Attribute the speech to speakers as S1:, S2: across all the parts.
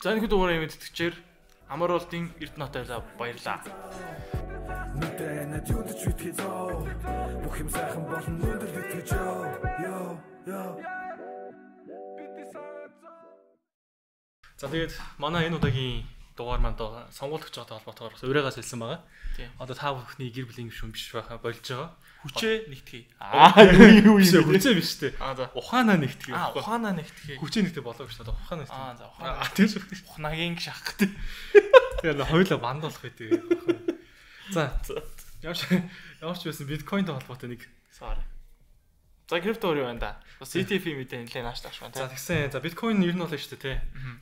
S1: За энэ дугаарыг мэдтгэжээр амар болтын Эрдэнэтэй баярлаа.
S2: Мэдэнэ юудч үтгэж зоо. Бүх юм сайхан болно өндөр үтгэж ёо.
S3: За тэгээд манай энэ удаагийн дугаар манд сонгуульч байгаатай холбоотойгоор ураагаас хэлсэн байгаа. Одоо та бүхний гэр бүлийн гишүүн биш байхаа болж байгаа.
S1: Хүчээ нэгтгэе.
S3: Юу хүчээ биш үү? Ухаанаа нэгтгэе.
S1: Ухаанаа нэгтгэе.
S3: Хүчээ нэгтгэе болоо гэж бодоо. Ухаанаа нэгтгэе.
S1: За ухаанаа.
S3: Тийм шүү.
S1: Ухнаагийн шах гэдэг.
S3: Тэгээд хоёулаа банд болох гэдэг. За ямар ч байсан биткойнтэй холбоотой нэг
S1: sorry. За крипто юу байна да? Бас ETF мэдээ нэлээд нааш тааш байна.
S3: За тэгсэн. За биткойн ер нь бол шүү дээ тий.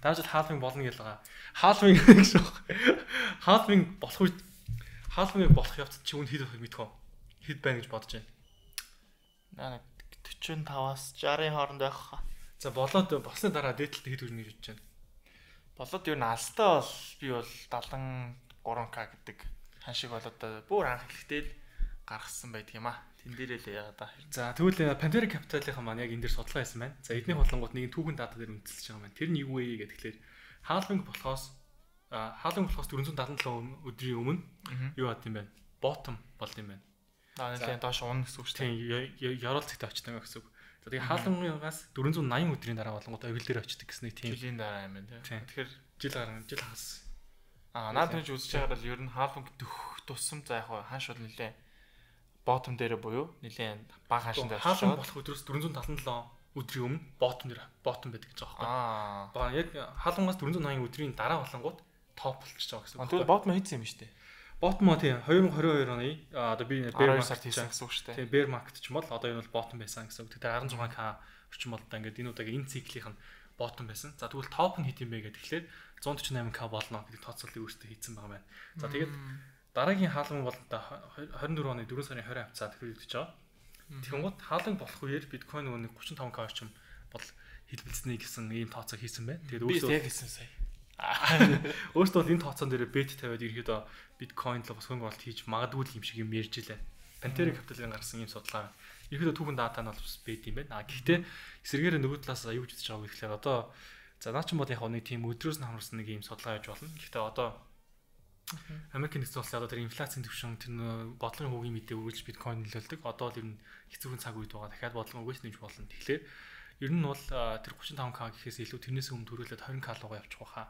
S3: Даажид хаалвинг болно гэж байгаа. Хаалвинг гэж байна. Хаалвинг болох үед хаалвинг болох явцад чи үн хэд байх биткойн хэд байна гэж бодож байна.
S1: Наа 45-аас 60-ын хооронд байх хаа.
S3: За болоод босны дараа дээдлэлт хэд хүрнэ гэж бодож байна.
S1: Болоод юу наалтай бол би бол 73k гэдэг ханшиг болоод бүр анх эхлэхдээ л гаргасан байдаг юм аа. Тэн дээрээ л яа да.
S3: За тэгвэл Pantera Capital-ийн маань яг энэ дээр судалгаа хийсэн байна. За эдний бодлонгууд нэг түүхэн дата дээр үндэслэж байгаа маань. Тэр нь юу вэ гэхээр хаалвинг болохоос 477 өдрийн өмнө юу бат юм бэ? Bottom болд юм байна.
S1: Нэлээд доош унах гэсэн үг шүү
S3: дээ. Тийм, ярол зэгтээ очтойгоо гэсэн үг. За тэгээ хаалвингаас 480 өдрийн дараа болонгууд авил дээр очдөг гэсэн нэг тийм.
S1: Жилийн дараа юм байна тийм. Тэгэхээр
S3: жил хагас.
S1: Наад тэрж үзэж байгаа бол ер нь хаалвинг тусам за яг ханш бол нэлээд bottom дээр буюу нэлээд бага ханшин дээр
S3: очиж байгаа. Болох өдрөөс 477 өдрийн өмнө bottom байдаг гэж байгаа байхгүй. Яг хаалвангаас 480 өдрийн дараа болонгууд топ болчихж байгаа гэсэн үг.
S1: Тэгэхээр bottom хийсэн юм шүү дээ.
S3: Bottom тийм 2022 оны одоо би bear
S1: market хийсэн гэсэн үг шүү дээ.
S3: Тийм bear market ч юм бол одоо энэ бол bottom байсан гэсэн үг. Тэгэхээр 16k орчим бол одоо ингээд энэ удаагийн энэ циклийн bottom байсан. За тэгвэл top нь хит юм бэ гэхээр 148k болно гэдэг тооцоолыг өөртөө хийсэн байгаа байна. За тэгээд дараагийн хаалган бол 24 оны 4 сарын 20 хавцаа төвлөрдөж байгаа. Тэгэнгუთ хаалган болох үеэр биткойн нөгөө 35k орчим бол хэлбэлцэнэ гэсэн ийм тооцоо хийсэн байна.
S1: Тэгээд өөртөө яг хийсэн сая.
S3: Өөртөө бол энэ тооцоон дээр бет тавиад ерөөдөө биткойн л бас хөнгө болт хийж магадгүй юм шиг юм ярьж илээ. Pantera Capital-ийн гаргасан ийм судалгаа. Ерөөдөө түүхэн дата нь бол бас бет юм байна. Гэхдээ эсрэгээр нөгөө талаас аюулж үзэж байгаа гэхлээр одоо за наа ч юм бол яг нэг тийм өдрөөс нь хамаарсан нэг ийм судалгаа яаж болно. Гэхдээ одоо Америкийн нэгдсэн улсын одоо тэр инфляцийн түвшин тэр бодлогын хүүгийн мэдээ өгүүлж биткойн нөлөөлдөг. Одоо л ер нь хэцүүхэн цаг үед байгаа. Дахиад бодлого өгөөс нэмж болно. Тэгэхээр ер нь бол тэр 35k гэхээс илүү тэрнээс өмнө төрүүлээд 20k руугаа явчих واخа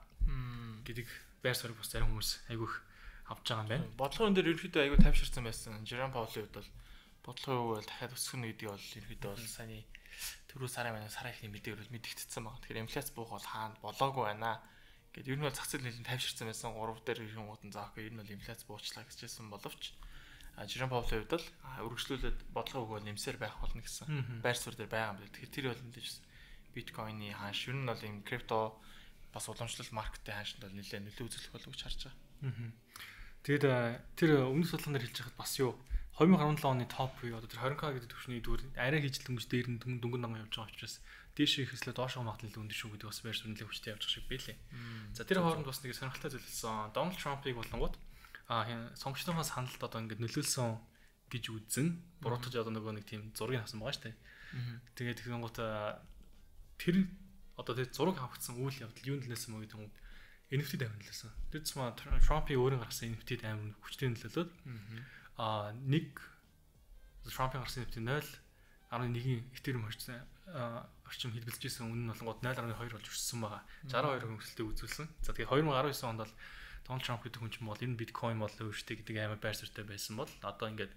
S3: гэдэг байр суурийг бас зарим хүмүүс айгүйх авч байгаа юм байна.
S1: Бодлогын дээр ерөнхийдөө айгүй тайвширсан байсан. Жером Паулийн хувьд бол бодлогын үг бол дахиад өсгөнө гэдэг бол ерөнхийдөө бол саяны түрүү сарын манай сарын ихний мэдээгээр бол мэдэгдсэн байна. Тэгэхээр инфляц буух бол хаана болоогүй байна. Гэт ер нь бол зах зээл нэлээд тайвширсан байсан. 3 дээр ирэх гутан заахгүй ер нь бол инфляц буучлаа гэжсэн боловч Жером Паулийн хувьд бол үргэлжлүүлээд бодлогын үг бол нэмсээр байх болно гэсэн байр суурь дээр байгаа юм байна. Тэгэхээр тэр бол нэлээд биткойны ханш ер нь бол юм крипто бас уламжлалт маркетын ханшинд бол нэлээд нөлөө үзүүлэх болов гэж харж байгаа.
S3: Тэгэд тэр өмнөх судалгаан дээр хэлж байхад бас юу 2017 оны топ буюу одоо тэр 20k гэдэг түвшний дүүр арай хийж дөнгөж дээр нь дөнгөн данган явж байгаа учраас дээш ихслээ доош магадлал өндөр шүү гэдэг бас байр суурь нэлээд хүчтэй явж байгаа шиг байлээ. За тэр хооронд бас нэг сонирхолтой зүйл хэлсэн. Donald Trump-ыг болонгууд сонгогчдынхаа саналд одоо ингээд нөлөөлсөн гэж үзэн буруутгаж одоо нөгөө нэг тийм зургийг авсан байгаа шүү дээ. Тэгээд тэгэнгუთ тэр одоо тэр зураг авагдсан үйл явдал юунд нөлөөлсөн мө гэдэг юм NFT-д амжилсан. Тэр цэма Trump-ийн өөрийн гаргасан NFT-д амин хүчтэй нөлөөлөд нэг Trump-ийн гаргасан NFT 0.1 Ethereum орчим хэлбэлжсэн үнэ нь болонгууд 0.2 болж өссөн байгаа. 62% хөнгөлөлтөд үзүүлсэн. За тэгээд 2019 онд бол Donald Trump гэдэг хүн ч юм бол энэ биткойн болоо өөртөө гэдэг амар байр суурьтай байсан бол одоо ингээд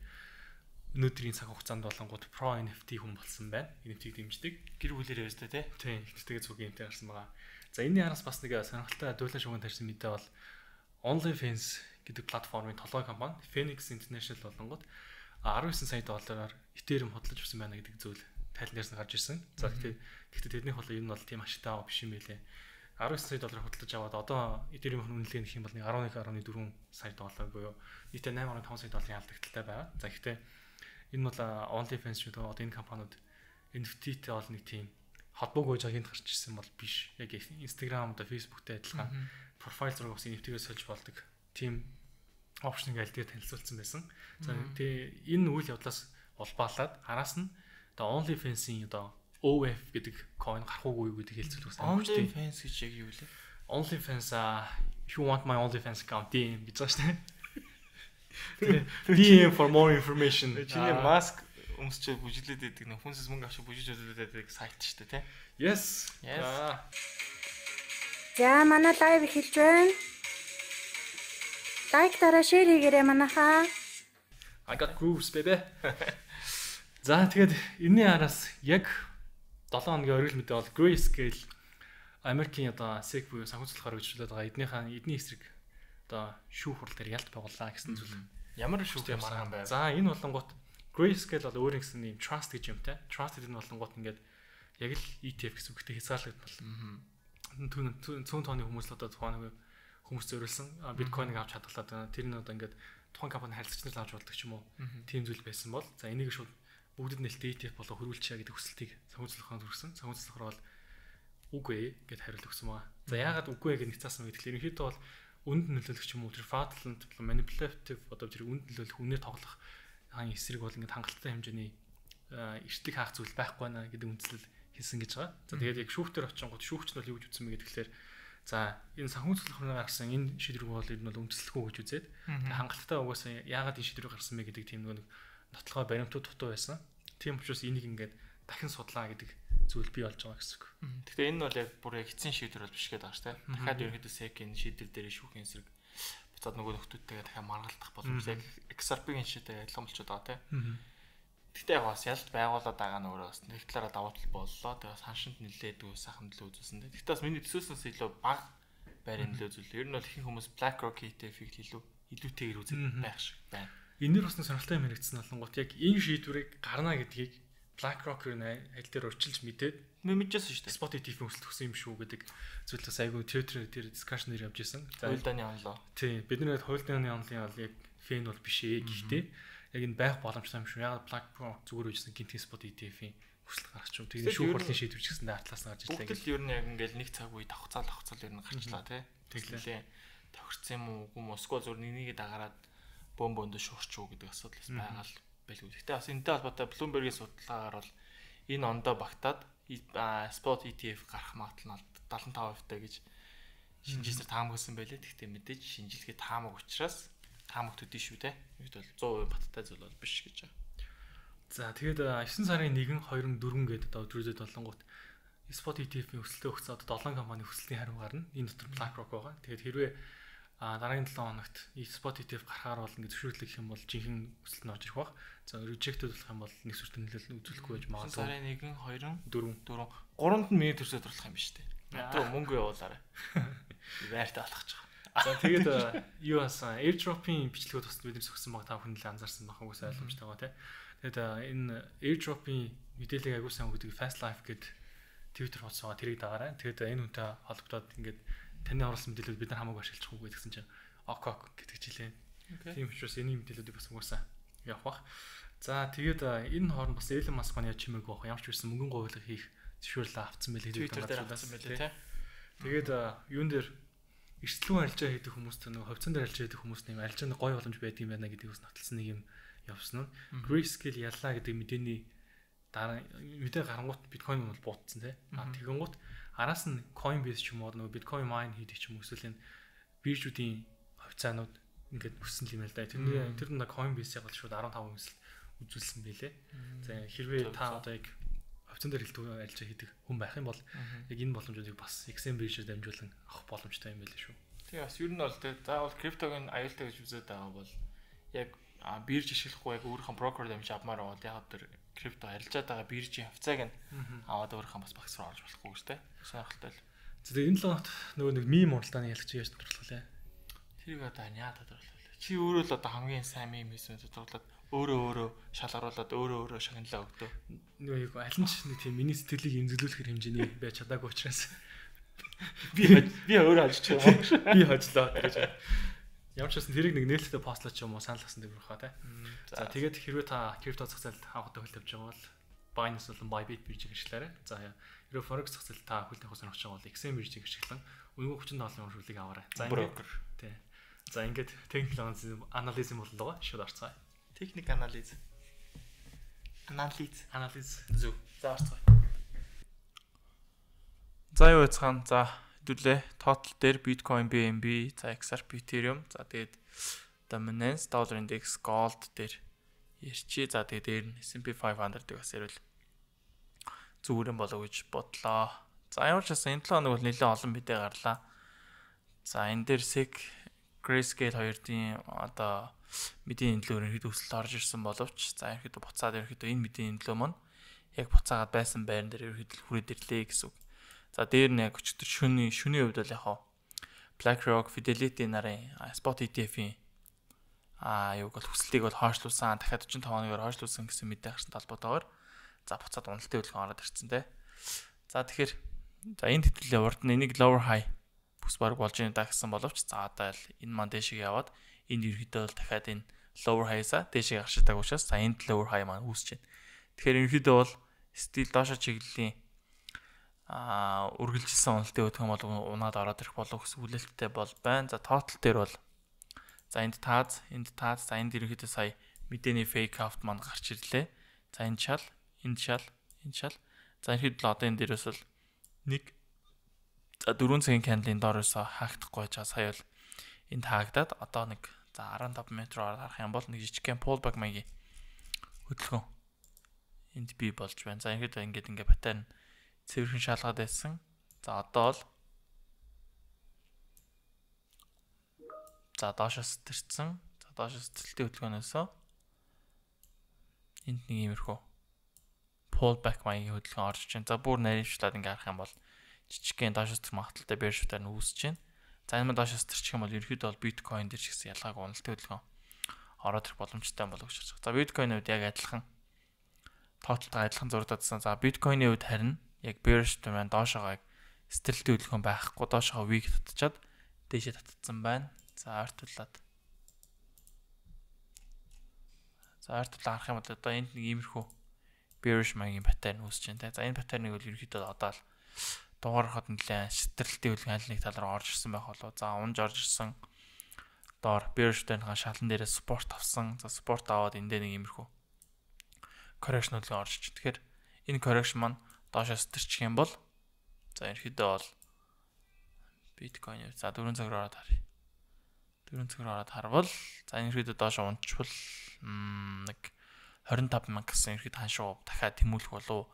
S3: өнөөдрийн цаг хугацаанд болонгууд Pro NFT хүн болсон байна. NFT-г дэмждэг.
S1: Гэр бүлэрээ өстэй тий.
S3: Тийм, тэгээд зүг юмтай гарсан байгаа. За энэний араас бас нэг сонирхолтой дуулан шуган тарьсан мэдээ бол OnlyFans гэдэг платформын толгой компани Phoenix International болонгууд 19 сая доллараар Ethereum хөдлөж өгсөн байна гэдэг зүйл тайлнаас нь гарч ирсэн. За гэхдээ тэднийх бол энэ бол тийм ашигтай биш юм байлээ. 19 сая доллар хөдлөж аваад одоо Ethereum-ийн үнэлгээ нэх юм бол 11.4 сая доллар буюу нийтээ 8.5 сая долларын алдагталтай байгаа. За гэхдээ энэ бол OnlyFans шүү дээ. Одоо энэ компаниуд NFT-тэй бол нэг тийм холбоогүй жагийн гарч ирсэн бол биш. Яг Instagram, Facebook-тэй адилхан профайл зураг ус NFT-гээс сольж болдог. Тийм опшныг аль дээр танилцуулсан байсан. За тэгээ энэ үйл явдлаас улбаалаад араас нь одоо OnlyFans-ийн одоо OF гэдэг coin гарах уугүй гэдэг хэлцүүлэх
S1: байсан. OnlyFans гэж яг юу вэ?
S3: OnlyFans if you want my OnlyFans account DM гэж байгаа шүү дээ. DM for more information.
S1: Чиний маск өмсчээ бүжиглээд байдаг нэг хүнсээс мөнгө авч бүжиж үзүүлээд байдаг сайт шүү дээ, тий?
S3: Yes.
S4: За манай лайв эхэлж байна. Лайк дараа шеэр хийгээрэй манайхаа.
S3: I got grooves baby. За тэгээд энэний араас яг 7 хоногийн оргил мэдээ бол Grayscale Америкийн одоо SEC буюу санхүүжилтээр хөгжүүлээд байгаа эдний эсрэг одоо шүүх хурал дээр ялт байгууллаа гэсэн зүйл.
S1: Ямар шүүх юм аргаан байв.
S3: За энэ болонгууд Grayscale бол өөр гэсэн юм trust гэж юмтай. Trust гэдэг нь болонгууд ингээд яг л ETF гэсэн үгтэй хязгаарлагдмал. Цөөн тооны хүмүүс л одоо тухайн хүмүүс зориулсан биткойныг авч хадгалаад байна. Тэр нь одоо ингээд тухайн компани харилцагч нар авч болдог ч юм уу. Тийм зүйл байсан бол за энийг шууд бүгдэд нэлээд ETF болго хөрвүүлчихье гэдэг хүсэлтийг санхүүжилтээр хүргэсэн. Санхүүжилтээр бол үгүй гэд хариулт өгсөн байна. За яагаад үгүй гэж нэгцаасан бэ гэхээр ерөнхийдөө бол үнд нөлөөлөх юм уу тэр fraudulent manipulative одоо тэр үнд нөлөөлөх үнээр тоглох хаан эсрэг бол ингээд хангалттай хэмжээний эртлэг хаах зүйл байхгүй байна гэдэг үндслэл хэлсэн гэж байгаа. За тэгээд яг шүүхтэр очингууд шүүгч нь бол юу гэж үтсэн бэ гэхээр за энэ санхүүжилтээр гаргасан энэ шийдвэрийг бол энэ бол үндэслэхгүй гэж үзээд хангалттай угаасаа яагаад энэ шийдвэрийг гаргасан бэ гэдэг тийм нэг нотлохой баримтууд дутуу байсан. Тийм учраас энийг ингээд дахин судлаа гэдэг зүйл бий болж байгаа гэсэн үг.
S1: Тэгэхээр энэ бол яг бүр яг эцсийн шийдвэр бол биш гэдэг байгаа шүү дээ. Дахиад ерөнхийдөө SEC-ийн шийдвэр дээр шүүхийн эсрэг буцаад нөгөө нөхдүүдтэйгээ дахиад маргалдах боломж яг XRP-ийн шийдвэртэй адилхан болчиход байгаа тийм. Гэхдээ яг бас ялт байгуулаад байгаа нь өөрөө бас нэг талаараа давуу тал боллоо. Тэгээ саншинд нэлээдгүй сайхан төлөө үзүүлсэн дээ. Гэхдээ бас миний төсөөснөөс илүү бага байрны төлөө үзүүл. Ер нь бол ихэнх хүмүүс BlackRock ETF-ийг илүүтэйгээр үзэх байх шиг байна.
S3: Энээр бас сонирхолтой юм хэрэгцсэн болонгот яг энэ шийдвэрийг гарна гэдгийг BlackRock-ийн аль дээр урьдчилж мэдээд
S1: мэдчихсэн шүү дээ.
S3: Spot ETF-ийн өсөлт өгсөн юм шүү гэдэг зүйлээс айгүй Twitter дээр discussion дээр явж исэн.
S1: За хуйлдааны онлоо.
S3: Тийм бид нэр хуйлдааны онлын бол яг фэн бол биш ээ. Гэхдээ яг энэ байх боломжтой юм шүү. Ягаад BlackRock зүгээр үжсэн гинтийн Spot ETF-ийн өсөлт гаргач шүү. Тэгээд шүүх хурлын шийдвэр ч гэсэндээ артлаас нь гарч ирлээ.
S1: Бүгд л ер нь яг ингээл нэг цаг үе давхцаал ер нь гарчлаа тий. Тэглээ. Тохирцсан юм уу үгүй юм уу эсвэл зөв нэгнийг дагараад бомбонд шуурч уу гэдэг асуудал байгаа л байлгүй. Гэхдээ бас энэтэй холбоотой Bloomberg-ийн судалгаагаар бол энэ ондоо багтаад Spot ETF гарах магадлал нь 75% гэж шинжилсээр таамагласан байлээ. Гэхдээ мэдээж шинжилгээ таамаг учраас таамаг төдий шүү те. Бид бол 100% баттай зүйл бол биш гэж байгаа.
S3: За тэгээд 9 сарын 1, 2, 4 гэдэг одоо өдрүүдэд болонгууд Spot ETF-ийн өсөлтөө өгсөн одоо 7 компани өсөлтийн хариу гарна. Энэ дотор BlackRock байгаа. Тэгээд хэрвээ дараагийн 7 хоногт Spot ETF гарахаар бол ингэ зөвшөөрлөх юм бол жинхэнэ өсөлт нь орж ирэх баг. За rejected болох юм бол нэг сүртэн нөлөөлөл үзүүлэхгүй байж магадгүй.
S1: Сарын 1, 2, 4, 3-нд нь миний төрсөд орлох юм биш үү? Надад мөнгө явуулаарай. Байртаа алхаж байгаа.
S3: За тэгээд юу асан airdrop-ийн бичлэгүүд бас бид нар зөвсөн баг та бүхэн л анзаарсан байх угсаа ойлгомжтой байгаа тий. Тэгээд энэ airdrop-ийн мэдээлэл агуу сайн өгдөг Fast Life гэдэг Twitter хуудас байгаа тэрийг дагаарай. Тэгээд энэ үнтэй холбогдоод ингээд таны оруулсан мэдээлэлүүд бид нар хамаагүй ашиглах уу гэдгсэн чинь ок гэдэг жилээ. Тийм учраас энэ мэдээллүүдийг бас угаасаа явах бах. За тэгээд энэ хооронд бас Elon Musk маань яаж чимээгүй байх ямар ч үсэн мөнгөн говьлог хийх зөвшөөрлөө авсан байлээ
S1: Twitter дээр авсан байлээ тий.
S3: Тэгээд юун дээр эрсдлүүн арилжаа хийдэг хүмүүстэй нөгөө ховцон дээр арилжаа хийдэг хүмүүс нэм арилжааны гой боломж байдаг юм байна гэдгийг бас нотолсон нэг юм явсан нь. Grayscale яллаа гэдэг мэдээний дараа мэдээ гарангуут биткойн бол буутсан тий. Тэгэнгუთ араас нь Coinbase ч юм уу нөгөө биткойн mine хийдэг ч юм уу эсвэл энэ биржүүдийн хавцаанууд ингээд өссөн юм л да. Тэр нь Coinbase-ийг бол шууд 15% үзүүлсэн байлээ. За хэрвээ та одоо яг хавцан дээр хэлдэг арилжаа хийдэг хүн байх юм бол яг энэ боломжуудыг бас XM биржээр дамжуулан авах боломжтой юм байлээ шүү.
S1: Тэгээ бас ер нь бол заавал криптогийн аюултай гэж үзээд байгаа бол яг бирж ашиглахгүй яг өөрийнхөө брокер дамж авмаар бол яг тэр крипто арилжаад байгаа биржийн хавцааг нь аваад өөрийнхөө бас багц руу орж болохгүй гэж тэ. Сонирхолтой л.
S3: За тэгээ энэ л нөгөө нэг мим уралдааны ялгч яаж тодорхойлоо.
S1: Тэрийг одоо яа тодорхойлоо. Чи өөрөө л одоо хамгийн сайн мим хийсэн тодорхойлоод өөрөө шалгаруулад өөрөө шагналаа өгдөө.
S3: Нөгөө яг аль нь ч нэг тийм миний сэтгэлийг эмзэглүүлэх хэмжээний байж чадаагүй учраас
S1: би өөрөө хожиж байгаа.
S3: Би хожлоо гэж. Ямар ч байсан тэрийг нэг нээлттэй постлоо ч юм уу санал гасан дээр бахаа тий. За тэгээд хэрвээ та крипто зах зээлд анхудаа хөл тавьж байгаа бол Binance болон Bybit биржийг ашиглаарай. За хэрвээ Forex зах зээлд та хөл тавих сонирхож байгаа бол XM биржийг ашиглан үнэгүй 37 уршуулыг аваарай. За ингээд тий. За ингээд техник анализ боллоо шууд орцгоё.
S1: Техник анализ. Зөв. За орцгоё. За юу яцхан. За хэдүүлээ. Total дээр Bitcoin, BNB, за XRP, Ethereum, за тэгээд Dominance, Dollar Index, Gold дээр ярьчи. За тэгээд дээр нь S&P 500-ыг бас ярил зүгээр болов гэж бодлоо. За ямар ч байсан энэ 7 хоног бол нэлээд олон мэдээ гарлаа. За энэ дээр SEC, Grayscale хоёрын одоо мэдээний төлөөр ихэд өсөлт орж ирсэн боловч за ихэд буцаад ихэд энэ мэдээний төлөө маань яг буцаагаад байсан байран дээр ихэд хүрээд ирлээ гэсэн үг. За дээр нь яг өчтөр шөнийн хувьд бол яг BlackRock, Fidelity нарын Spot ETF-ийн юуг бол хүслийг бол хойшлуулсан, дахиад 45 хоногоор хойшлуулсан гэсэн мэдээ гарсан талбайтаагаар за буцаад уналтын хөдөлгөөн ороод ирсэн те. За тэгэхээр за энэ хэвлэлээ урд нь энийг lower high бүс баг болж байна гэсэн боловч за одоо энэ маань дэшиг яваад энд ерөөдөө бол дахиад энэ lower high-саа дэшиг гарчдаг учраас за энд lower high маань үүсэж байна. Тэгэхээр ерөөдөө бол стил доошо чиглэлийн үргэлжилсэн уналтын хөдөлгөөн бол унаад ороод ирэх болов гэсэн хүлээлттэй бол байна. За total дээр бол за энд таз, за энд ерөөдөө сая мэдээний fake out маань гарч ирлээ. За энэ шал. За ихэд л одоо энэ дээрээс бол нэг за 4 цагийн candle-ийн доороос хаагдахгүй жаа сая бол энд хаагдаад одоо нэг за 15 метроор харах юм бол нэг жижигхэн pullback маягийн хөдөлгөөн энд бий болж байна. За ихэд ингээд паттерн цэвэрхэн шалгаад байсан. За одоо л за доошоос тэрсэн. За доошоос тэлтэй хөдөлгөөнөөсөө энд нэг иймэрхүү pullback маягийн хөдөлгөөн орж ийн. За бүр наривчлаад ингээ харах юм бол жижигхэн доошоос тэр магталтай bear short-аар нь үүсэж байна. За энэ доошоос тэрчих юм бол ерөөдөө бол Bitcoin дээр ч гэсэн ялгааг уналтын хөдөлгөөн ороод ирэх боломжтой болов гэж байна. За Bitcoin-ийн үед яг адилхан тоотлолтой адилхан зурдадсан. За Bitcoin-ийн үед харин яг bear short маань доошоогоо яг стерлтэй хөдөлгөөн байхгүй доошоогоо weak татчихад дээшээ татцсан байна. За ойртуулаад харах юм бол одоо энд нэг иймэрхүү bearish маягийн паттерн үүсэж байна. За энэ паттерныг бол ерөөхдөө одоо л дугаархад нэлээд шитрэлтийн хөдөлгөөн аль нэг тал руу орж ирсэн байх болоо. За унж орж ирсэн доор bearish-тэй шалан дээрээ support авсан. За support аваад эндээ нэг иймэрхүү correction хөдөлгөөн орж ич. Тэгэхээр энэ correction маань доошоос тэрчих юм бол за ерөөхдөө бол Bitcoin за 4 цаг руу ороод харъя. 4 цаг руу ороод харвал за энэ ерөөдөө доош унчвал нэг 25 мянга гэсэн ерөөд ханшуу дахиад тэмүүлэх болов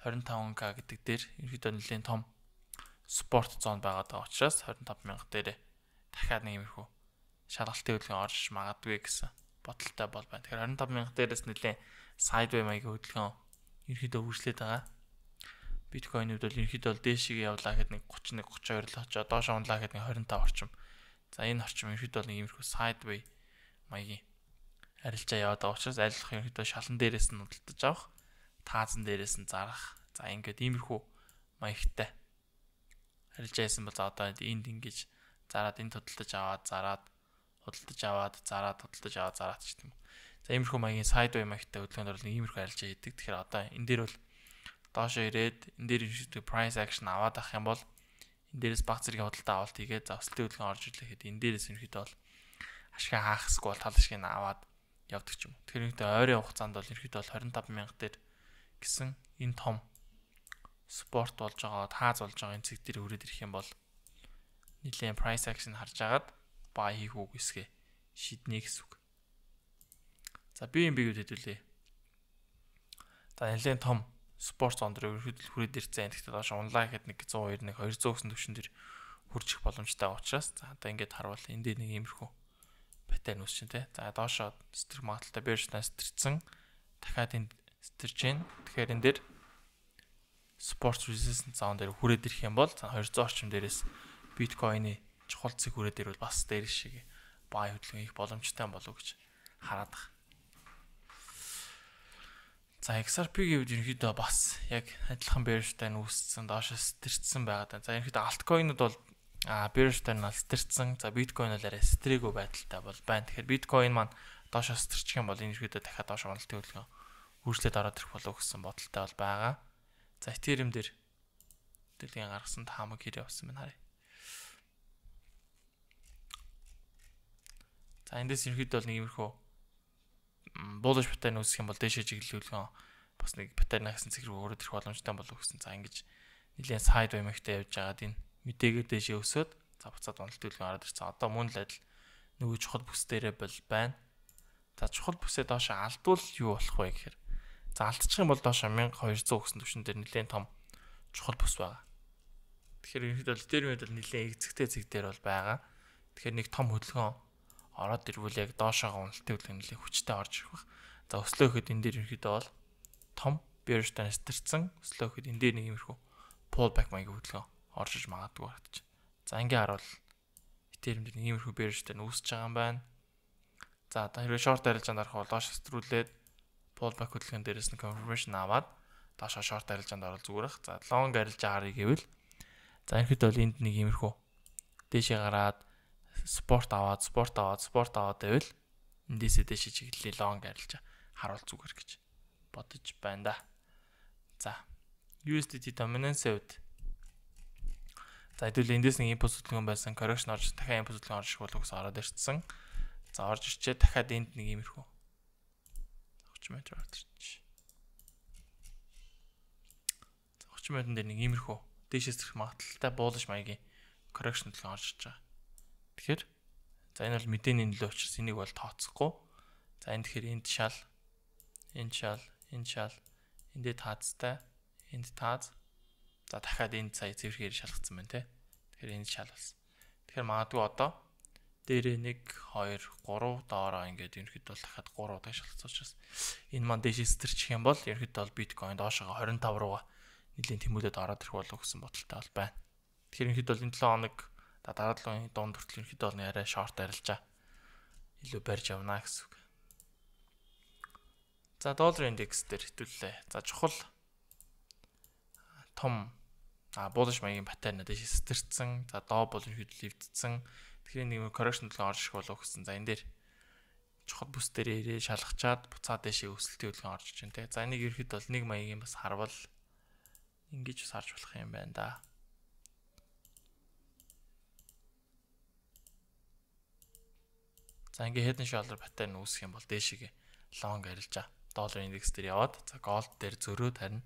S1: 25k гэдэг дээр ерөөдөө нэлийн том спорт зон байгаад байгаа учраас 25 мянга дээр дахиад нэг иймэрхүү шалгалтын хөдөлгөөн орж магадгүй гэсэн бодолтой бол байна. Тэгэхээр 25 мянга дээрээс нэлийн sideway маягийн хөдөлгөөн ерөөдөө үргэлжлээд байгаа. Биткойн үед бол ерөөдөө бол дээшээ явлаа гэхэд нэг 31 32 л очоо доош унлаа гэхэд нэг 25 орчим. За энэ орчим ерөөдөө нэг иймэрхүү sideway маягийн арилжаа яваад байгаа учраас айлах ерөөдөө шалан дээрээс нь худалдаж авах, таазан дээрээс нь зарах. За ингээд иймэрхүү маягтай арилжаа хийсэн бол за одоо энд ингэж зараад энд худалдаж аваад зараад худалдаж аваад зараад худалдаж аваад зараад ч юм. За иймэрхүү маягийн sideway маягтай хөдөлгөөнөөр бол иймэрхүү арилжаа хийдэг. Тэгэхээр одоо энэ дээр бол доошоо ирээд энэ дээр ерөөдөө price action аваад авах юм бол энэ дээрээс баг зэргийн худалдаа авалт хийгээд за өсөлтийн хөдөлгөөн орж ирлээ гэхэд энэ дээрээс ерөөдөө бол ашиг хаахсгүй бол тал ашиг нь аваад явдаг ч юм. Тэгэхээр нэгдээ ойрын хугацаанд бол ерөөдөө бол 25 мянга дээр гэсэн энэ том спорт болж байгаа, тааз болж байгаа энэ цэг дээр хүрээд ирэх юм бол нэлийн price action харж агаад buy хийх үг эсгээ шийднэ гэсэн үг. За BNB-г хэдүүлээ. За нэлийн том спорт зон дээр ерөөдөө хүрээд ирсэн. Тэгэхдээ доош унлаа гэхэд нэг 100 200 гэсэн төвшин дээр хүрч ирэх боломжтой байгаа учраас за одоо ингээд харуул энэ дээр нэг иймэрхүү паттерн үүсчин тэ. За доошоо стер магадaltaй бэржнээс стэрсэн. Дахиад энд стэрж гин. Тэгэхээр энэ дээр спорт resistance zone дээр хүрээд ирэх юм бол 200 орчим дээрээс биткойны чухал цэг хүрээд ирвэл бас дээр шиг buy хөдөлгөөн их боломжтой болов гэж хараад байгаа. За XRP-ийн үед ерөнхийдөө бас яг адилхан bearish-тай үүссэн доошоос стэрсэн байгаа. За ерөнхийдөө altkcoin-ууд бол bearish-тай нь стэрсэн. За биткойн бол арай стрээгүй байдалтай бол байна. Тэгэхээр биткойн маань доошоос стэрчих юм бол ерөнхийдөө дахиад доош уналтын хөдөлгөөн үргэлжлээд ороод ирэх болов гэсэн бодолтой бол байгаа. За Ethereum дээр дэлхийн гаргасан таамаг хэрэг авсан байна харъя. За эндээс ерөнхийдөө бол нэг иймэрхүү bullish pattern үүсэх юм бол дээшээ чиглэл хөдөлгөөн бас нэг pattern гэсэн цэг рүү өрөөд ирэх боломжтой болов гэсэн. За ингэж нэлээд sideway мэгтэй явж байгаад энэ мэдээгээр дэшээ өсөөд за буцаад уналт төлгөө ороод ирсэн. Одоо мөн л адил нөгөө чухал бүс дээрээ бол байна. За чухал бүсээ доошо алдвал юу болох вэ гэхээр за алдчих юм бол доошо 1200 гэсэн түвшин дээр нэлээд том чухал бүс байгаа. Тэгэхээр ерөнхийдөө Ethereum-д бол нэлээд эзэгтэй зэг дээр бол байгаа. Тэгэхээр нэг том хөдөлгөөн ороод ирвэл яг доошоогоо уналтын хөдөлгөөн нэлээд хүчтэй орж ирэх баг. За өслөө гэхэд энэ дээр ерөнхийдөө бол том bearish trend стэрсэн. Өслөө гэхэд энэ дээр нэг иймэрхүү pullback маягийн хөдөлгөөн орж иж магадгүй харагдаж. За ингээ харуул Ethereum дээр нэг иймэрхүү bearish trend үүсэж байгаа юм байна. За одоо хэрвээ short арилжаанд орох бол доош хэстрүүлээд pullback хөдөлгөөн дээрээс нь confirmation аваад доошоо short арилжаанд орол зүгээр ах. За long арилжаа харъя гэвэл за ерөнхийдөө бол энд нэг иймэрхүү дээшээ гараад спорт аваад байвал эндээсээ дээшээ чиглэлээ long арилжаа харуул зүгээр гэж бодож байна да. За USDT dominance-ийн хувьд за хэдүүл эндээс нэг импульс хөдөлгөөн байсан correction орж дахиад импульс хөдөлгөөн орж ирэх болов гэсэн ороод ирсэн. За орж ирчээ дахиад энд нэг иймэрхүү 30 метр орж ирчих. За 30 метрын дээр нэг иймэрхүү дээшээс зэрэг магадaltaй буулж маягийн correction хөдөлгөөн орж ирж байгаа. Тэгэхээр за энэ бол мэдээний нөлөө учраас энийг бол тооцохгүй. За энэ тэгэхээр энд шал эндээ таацтай энд таац. За дахиад энд сая цэвэрхээр шалгацсан байна те. Тэгэхээр энд шал болсон. Тэгэхээр магадгүй одоо дээрээ 1 2 3 доороо ингээд ерөнхийдөө дахиад 3 удаа шалгацсан учраас энэ маань дээшээс тэрчих юм бол ерөнхийдөө бол биткойн доошоо 25 руугаа нэлийн тэмүүлээд ороод ирэх болов гэсэн бодолтой бол байна. Тэгэхээр ерөнхийдөө энэ 7 хоног дараа 7 хоногийн дунд хүртэл ерөнхийдөө бол арай шорт арилжаа илүү барьж явна гэсэн үг. За доллар индекс дээр хэвлэлээ. За чухал том bullish маягийн паттерн дэшээс сэтэрсэн. За доо бол ерөнхийдөө левдсэн. Тэгэхээр нэг correction төлгөө орж ирэх болов гэсэн. За энэ дээр чухал бүс дээр ирээ шалгачаад буцаад дэшээ өсөлтийн хөдөлгөөн орж иж байна те. За энийг ерөнхийдөө бол нэг маягийн бас харвал ингэж бас харж болох юм байна да. За ингээ head and shoulder паттерн үүсэх юм бол дээшээгээ long арилжаа доллар индекс дээр яваад за gold дээр зөрөөд харин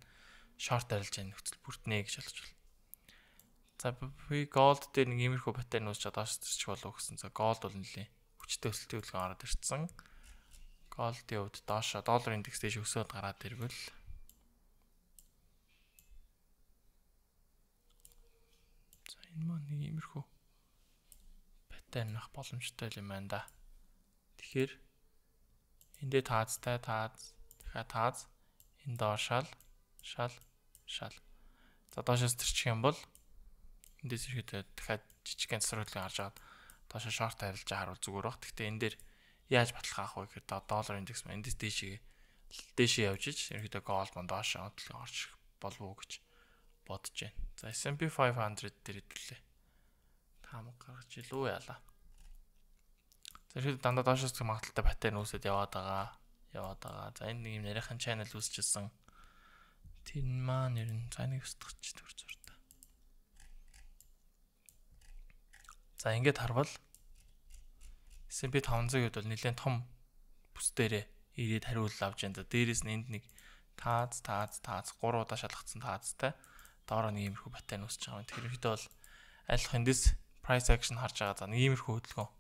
S1: short арилжааны нөхцөл бүрднэ гэж ойлгож байна. За би gold дээр нэг иймэрхүү паттерн үүсч доош төрчих болов гэсэн. За gold бол нэлээ хүчтэй өсөлтийн хөдөлгөөн ороод ирсэн. Gold-ийн хувьд доошо доллар индекс дээш өсөөд гараад ирвэл за энэ маань нэг иймэрхүү паттерн авах боломжтой юм байна да. Тэгэхээр эндээ таацтай дахиад таац энэ доошаал шал. За доошоос төрчих юм бол эндээс ирэхэд дахиад жижигхэн засварлын харж агаад доошоо шорт арилжаа харуул зүгээр баг. Гэхдээ энэ дээр яаж баталгаа авах вэ гэхээр доллар индекс маань эндээс дээшээ явж иж ерөнхийдөө gold маань доошоо хөдөлгөөн орж ирэх болов уу гэж бодож байна. За S&P 500 дээр хэвлэлээ. Таамаг гаргаж илүү яалаа. За ихэд дандаа доошоос магадaltaй паттерн үүсэт яваад байгаа. За энэ нэг юм нарийнхан channel үүсчихсэн. Тэр маань ер нь за нэг устгах төр зуртаа. За ингээд харвал S&P 500-д бол нэлээд том бүс дээрээ ирээд хариулт авч байна. За дээрээс нь энд нэг таац 3 удаа шалгацсан таацтай доороо нэг иймэрхүү паттерн үүсэж байгаа юм. Тэгэхээр ихэд бол айлах эндээс price action харж байгаа. За нэг иймэрхүү хөдөлгөөн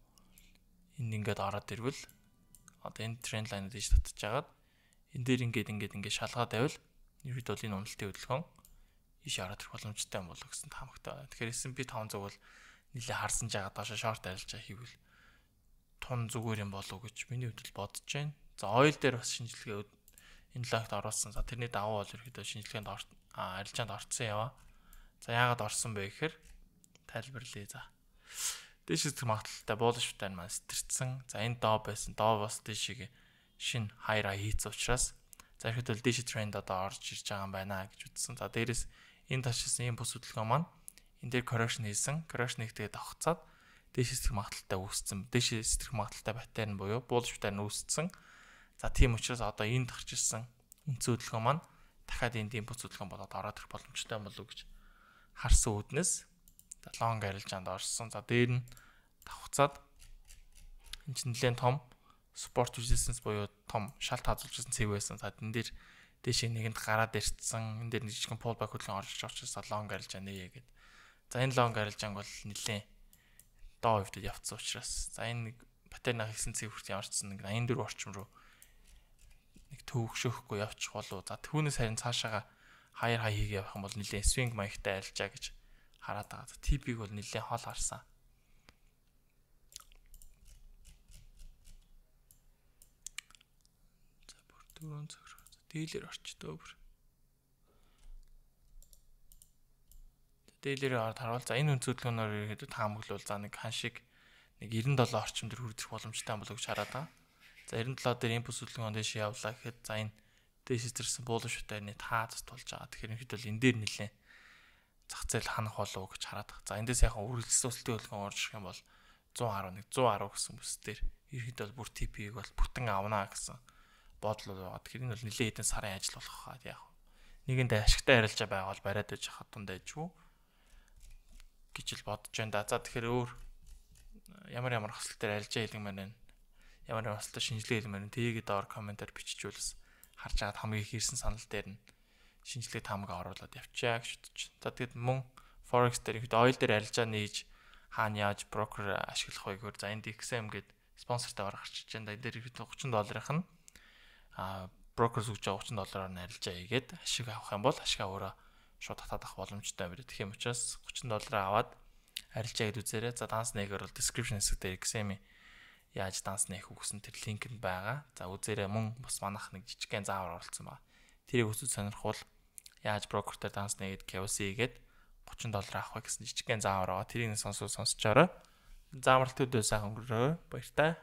S1: энд ингээд ороод ирвэл одоо энэ тренд лайн дэж татчих жагаад энэ дээр ингээд шалгаад байвал ерөөд бол энэ уналтын хөдөлгөөн ийш ороод ирэх боломжтой юм болов гэсэн таамагтай байна. Тэгэхээр S&P 500 бол нэлээ харсан жагаад доошо шорт арилжаа хийвэл тун зүгээр юм болов гэж миний хувьд бодож байна. За oil дээр бас шинжилгээ энэ лагт оруулсан. За тэрний давуу бол ерөөдөө шинжилгээнд арилжаанд орцсон яваа. За яагаад орсон бэ гэхээр тайлбарлая. За дээшээс магадaltaй bullish паттерн маань сэтэрсэн. За энэ доо байсан. Доо бас дээшээ шин high хийц учраас за ихэд бол дээшээ тренд одоо орж ирж байгаа юм байна гэж үзсэн. За дээрээс энэ ташилсан юм бүс хөдөлгөөн маань энэ дээр correction хийсэн. Correction хийхдээ давхцаад дээшээс магадaltaй үүссэн. Дээшээс магадaltaй паттерн буюу bullish паттерн үүссэн. За тийм учраас одоо энэ тарч ирсэн үндсэн хөдөлгөөн маань дахиад энд импульс хөдөлгөөн болоод ороод ирэх боломжтой юм болов гэж харсан үүднээс long арилжаанд орсон. За дээр нь давхцаад энэ чинь нэлээд том support resistance буюу том шалт хазуулжсэн цэв байсан. За энэ дээр дээшээ нэгэнд гараад ирсэн. Энэ дээр нэг жижигхэн pullback хөдөлгөөн орж ирж учраас long арилжаа нээгээд. За энэ лонг арилжаанг бол нэлээд доо хөвдөд явцсан учраас за энэ нэг паттернаа хийсэн цэв хүрт ямарчсан нэг 84 орчим руу нэг төвөгшөхгүй явчих болов. За түүнээс харин цаашаага хаяр хай хийгээ явах юм бол нэлээд swing маягтай арилжаа гэж хараад байгаа. TP-г бол нэлээд хол харсан. За бүр дөрөв цогроо. Дийлэр орчдөө бүр. Дийлэрээ харуул. За энэ өнцөдлгөөнөөр ихэд таамаглал за нэг ханшиг нэг 97 орчим төр хүрэх боломжтой болов гэж хараад байгаа. За 97 дээр импульс хөдөлгөөн дэш явлаа гэхэд за энэ дэш зэрсэн буулын шүтээр нэг тааз тулж байгаа. Тэгэхээр энэ хэд бол энэ дээр нэлээд зах зээл ханах болов гэж хараад байгаа. За эндээс яхан үргэлжлүүлсэн өсөлтийн хөдөлгөөн орж ирэх юм бол 111 110 гэсэн бүс дээр ерхэд бол бүр TP-г бол бүтэн авнаа гэсэн бодол байгаа. Тэгэхээр энэ бол нэлээд хэдэн сарын ажил болох хаа яг. Нэгэнд ашигтай арилжаа байгаа бол бариад байж хахад тундаа ижгүй гэж л бодож байна да. За тэгэхээр өөр ямар хөсөл төр арилжаа хэлмээр байна. Ямар хөсөлтөд шинжилгээ хэлмээр байна. Тэгээд доор комментаар биччихвэлс харж агаад хамгийн их ирсэн санал дээр нь шинжилгээ таамаг оруулаад явчаа гэж бодож. За тэгэд мөн Forex дээр ихэд ойл дээр арилжаа нээж хаана яаж брокер ашиглах вэ гэхээр за энд XM гээд спонсортай гарч ирж байна. Энд дээр ихэд $30-ын нь брокер зүгж $30-аар нь арилжаа хийгээд ашиг авах юм бол ашигаа өөрөө шууд татаад авах боломжтой байна. Тэгэх юм учраас $30 аваад арилжаа гээд үзээрэй. За данс нэгээр бол description хэсэг дээр XM яаж данс нээх үгсэн тэр линк нь байгаа. За үзээрэй мөн бас манайх нэг жижигхэн заавар оруулсан байна. Тэрийг үзэж сонирхвол яаж брокер дээр данс нэгээд KYC хийгээд $30 авах вэ гэсэн жижигхэн заавар байгаа. Тэрийг сонсож орой. Заамралтуудаа сайхан өнгөрөө. Баяртай.